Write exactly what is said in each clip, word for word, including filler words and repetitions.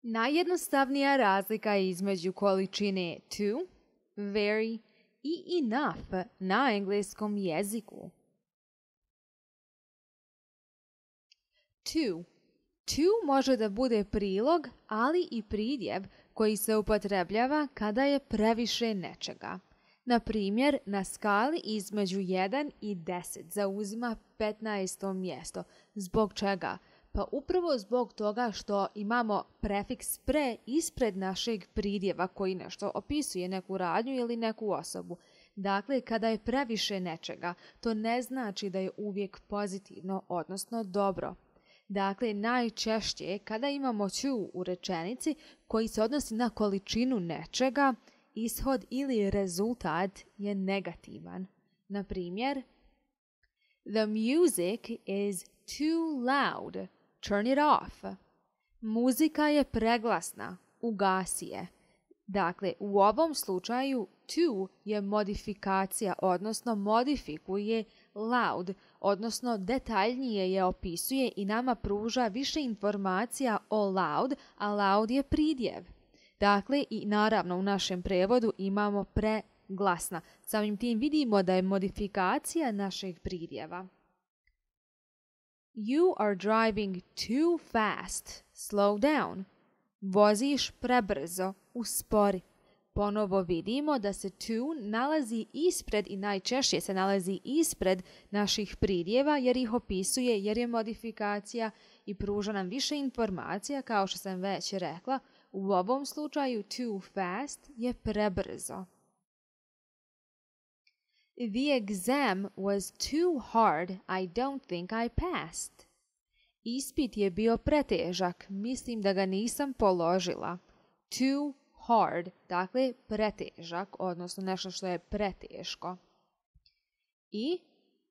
Najjednostavnija razlika između količine to, very i enough na engleskom jeziku. To. To može da bude prilog, ali i pridjev koji se upotrebljava kada je previše nečega. Na primjer, na skali između jedan i deset zauzima petnaesto mjesto. Zbog čega? Pa upravo zbog toga što imamo prefiks pre ispred našeg pridjeva koji nešto opisuje, neku radnju ili neku osobu. Dakle, kada je previše nečega, to ne znači da je uvijek pozitivno, odnosno dobro. Dakle, najčešće kada imamo to u rečenici koji se odnosi na količinu nečega, ishod ili rezultat je negativan. Na primjer, the music is too loud. Turn it off. Muzika je preglasna. Ugasi je. Dakle, u ovom slučaju to je modifikacija, odnosno modifikuje loud, odnosno detaljnije je opisuje i nama pruža više informacija o loud, a loud je pridjev. Dakle, i naravno u našem prevodu imamo preglasna. Samim tim vidimo da je modifikacija našeg pridjeva. You are driving too fast. Slow down. Voziš prebrzo. Uspori. Ponovo vidimo da se to nalazi ispred i najčešće se nalazi ispred naših pridjeva jer ih opisuje, jer je modifikacija i pruža nam više informacija, kao što sam već rekla. U ovom slučaju too fast je prebrzo. The exam was too hard. I don't think I passed. Ispit je bio pretežak. Mislim da ga nisam položila. Too hard, dakle pretežak, odnosno nešto što je preteško. I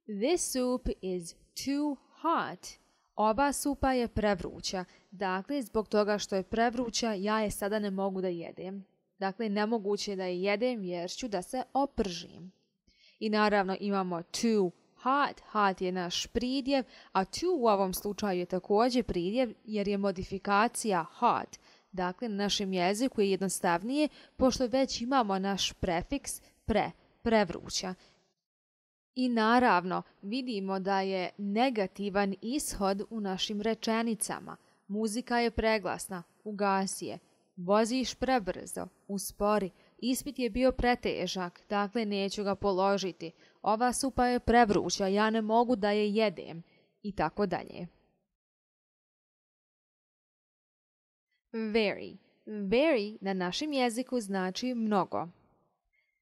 this soup is too hot. Ova supa je prevruća. Dakle, zbog toga što je prevruća, ja je sada ne mogu da jedem. Dakle, nemoguće je da je jedem jer ću da se opržim. I naravno imamo too hot. Hot je naš pridjev, a to u ovom slučaju je također pridjev jer je modifikacija hot. Dakle, na našem jeziku je jednostavnije pošto već imamo naš prefiks pre, prevruća. I naravno vidimo da je negativan ishod u našim rečenicama. Muzika je preglasna, ugasi je. Voziš prebrzo, uspori. Ispit je bio pretežak, dakle neću ga položiti. Ova supa je prevruća, ja ne mogu da je jedem. I tako dalje. Very. Very na našem jeziku znači mnogo.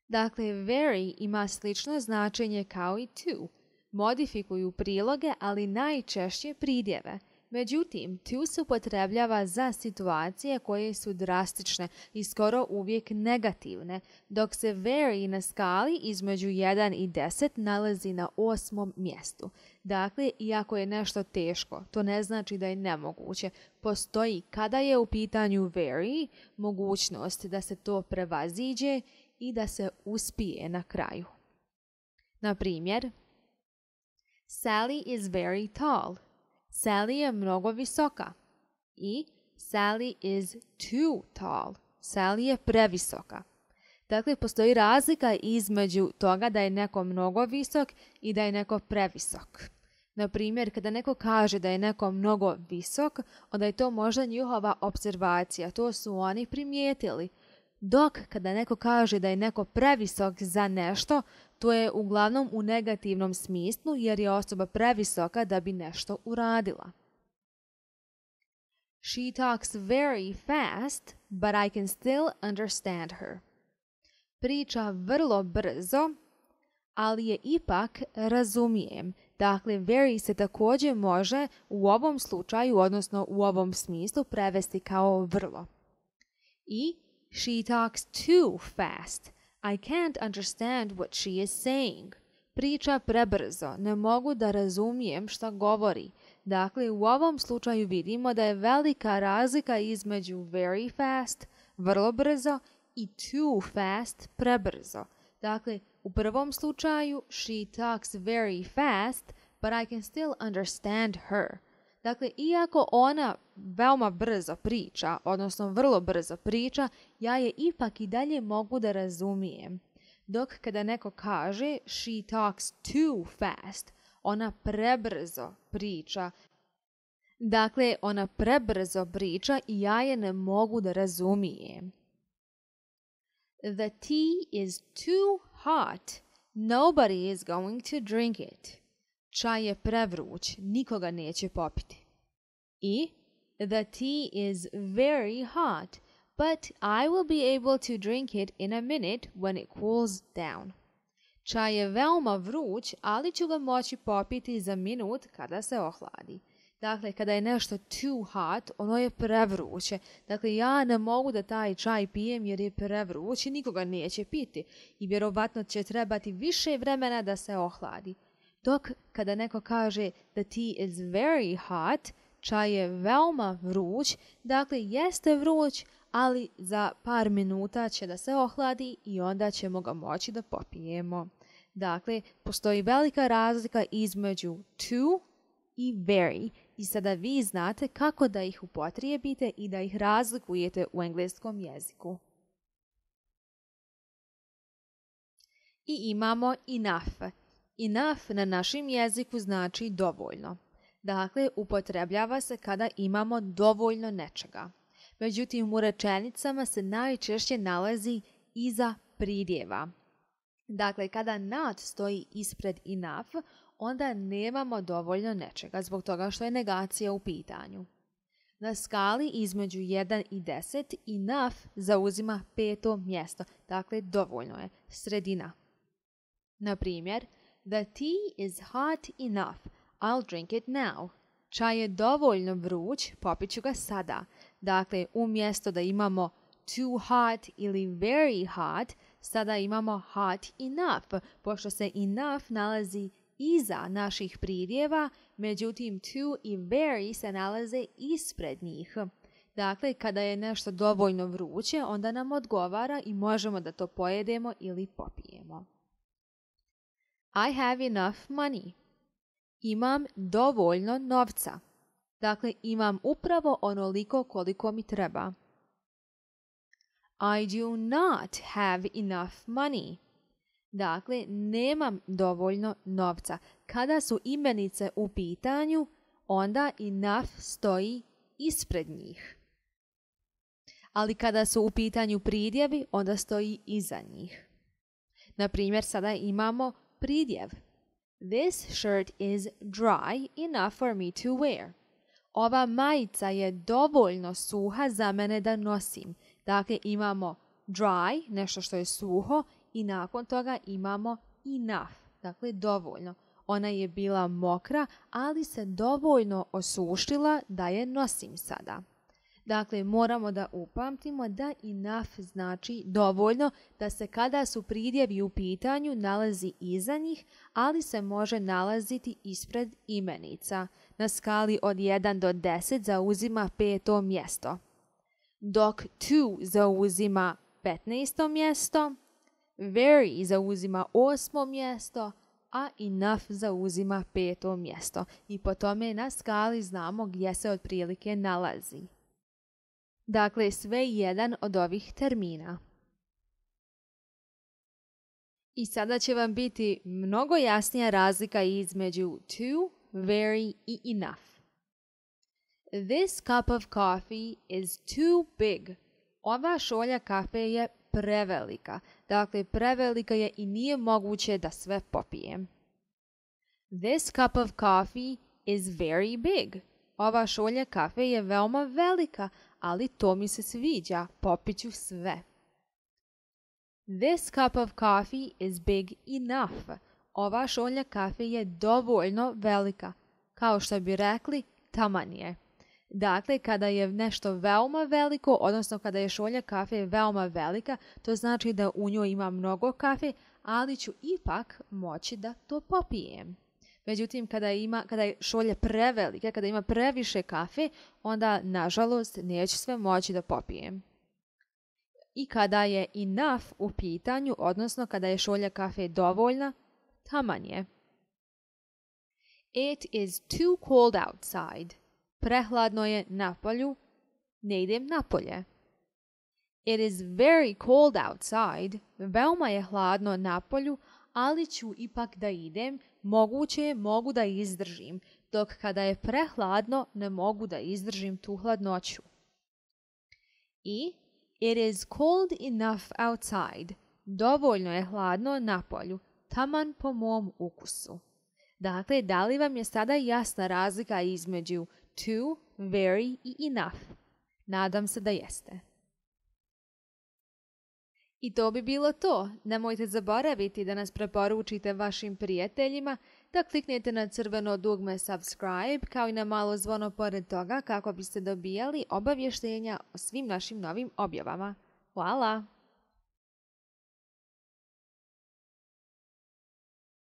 Dakle, very ima slično značenje kao i to. Modifikuju priloge, ali najčešće pridjeve. Međutim, to se upotrebljava za situacije koje su drastične i skoro uvijek negativne, dok se very na skali između jedan i deset nalazi na osmom mjestu. Dakle, iako je nešto teško, to ne znači da je nemoguće. Postoji kada je u pitanju very mogućnost da se to prevaziđe i da se uspije na kraju. Na primjer, Sally is very tall. Sally je mnogo visoka. I Sally is too tall. Sally je previsoka. Dakle, postoji razlika između toga da je neko mnogo visok i da je neko previsok. Na primjer, kada neko kaže da je neko mnogo visok, onda je to možda njihova observacija. To su oni primijetili. Dok kada neko kaže da je neko previsok za nešto, to je uglavnom u negativnom smislu jer je osoba previsoka da bi nešto uradila. She talks very fast, but I can still understand her. Priča vrlo brzo, ali je ipak razumijem. Dakle, very se također može u ovom slučaju, odnosno u ovom smislu, prevesti kao vrlo. I she talks too fast. I can't understand what she is saying. Priča prebrzo, ne mogu da razumijem šta govori. Dakle, u ovom slučaju vidimo da je velika razlika između very fast, vrlo brzo, i too fast, prebrzo. Dakle, u prvom slučaju she talks very fast, but I can still understand her. Dakle, iako ona veoma brzo priča, odnosno vrlo brzo priča, ja je ipak i dalje mogu da razumijem. Dok kada neko kaže she talks too fast, ona prebrzo priča. Dakle, ona prebrzo priča i ja je ne mogu da razumijem. The tea is too hot. Nobody is going to drink it. Čaj je prevruć, nikoga neće popiti. I the tea is very hot, but I will be able to drink it in a minute when it cools down. Čaj je veoma vruć, ali ću ga moći popiti za minut kada se ohladi. Dakle, kada je nešto too hot, ono je prevruće. Dakle, ja ne mogu da taj čaj pijem jer je prevruć i nikoga neće piti. I vjerovatno će trebati više vremena da se ohladi. Dok kada neko kaže the tea is very hot, čaj je veoma vruć, dakle jeste vruć, ali za par minuta će da se ohladi i onda ćemo ga moći da popijemo. Dakle, postoji velika razlika između too i very i sada vi znate kako da ih upotrijebite i da ih razlikujete u engleskom jeziku. I imamo enough. Enough na našem jeziku znači dovoljno. Dakle, upotrebljava se kada imamo dovoljno nečega. Međutim, u rečenicama se najčešće nalazi iza pridjeva. Dakle, kada not stoji ispred enough, onda nemamo dovoljno nečega zbog toga što je negacija u pitanju. Na skali između jedan i deset enough zauzima peto mjesto, dakle dovoljno je, sredina. Na primjer, the tea is hot enough, I'll drink it now. Čaj je dovoljno vruć, popit ću ga sada. Dakle, umjesto da imamo too hot ili very hot, sada imamo hot enough, pošto se enough nalazi iza naših pridjeva, međutim too i very se nalaze ispred njih. Dakle, kada je nešto dovoljno vruće, onda nam odgovara i možemo da to pojedemo ili popijemo. I have enough money. Imam dovoljno novca. Dakle, imam upravo onoliko koliko mi treba. I do not have enough money. Dakle, nemam dovoljno novca. Kada su imenice u pitanju, onda enough stoji ispred njih. Ali kada su u pitanju pridjevi, onda stoji iza njih. Na primjer, sada imamo pridjev. This shirt is dry enough for me to wear. Ova majica je dovoljno suha za mene da nosim. Dakle, imamo dry, nešto što je suho, i nakon toga imamo enough, dakle dovoljno. Ona je bila mokra, ali se dovoljno osušila da je nosim sada. Dakle, moramo da upamtimo da enough znači dovoljno, da se kada su pridjevi u pitanju nalazi iza njih, ali se može nalaziti ispred imenica. Na skali od jedan do deset zauzima peto mjesto. Dok to zauzima petnaesto mjesto, very zauzima osmo mjesto, a enough zauzima peto mjesto. I po tome na skali znamo gdje se otprilike nalazi. Dakle, sve jedan od ovih termina. I sada će vam biti mnogo jasnija razlika između to, very i enough. This cup of coffee is too big. Ova šolja kafe je prevelika. Dakle, prevelika je i nije moguće da sve popijem. This cup of coffee is very big. Ova šolja kafe je veoma velika, ali to mi se sviđa, popit ću sve. This cup of coffee is big enough. Ova šolja kafe je dovoljno velika. Kao što bi rekli, taman je. Dakle, kada je nešto veoma veliko, odnosno kada je šolja kafe veoma velika, to znači da u njoj ima mnogo kafe, ali ću ipak moći da to popijem. Međutim, kada, ima, kada je šolja prevelika, kada ima previše kafe, onda, nažalost, neću sve moći da popijem. I kada je enough u pitanju, odnosno kada je šolja kafe dovoljna, taman je. It is too cold outside. Prehladno je napolju. Ne idem napolje. It is very cold outside. Veoma je hladno napolju, ali ću ipak da idem. Moguće je mogu da izdržim, dok kada je prehladno ne mogu da izdržim tu hladnoću. I it is cold enough outside. Dovoljno je hladno napolju, taman po mom ukusu. Dakle, da li vam je sada jasna razlika između to, very i enough? Nadam se da jeste. I to bi bilo to. Nemojte zaboraviti da nas preporučite vašim prijateljima, da kliknete na crveno dugme subscribe kao i na malo zvono pored toga kako biste dobijali obavještenja o svim našim novim objavama. Hvala!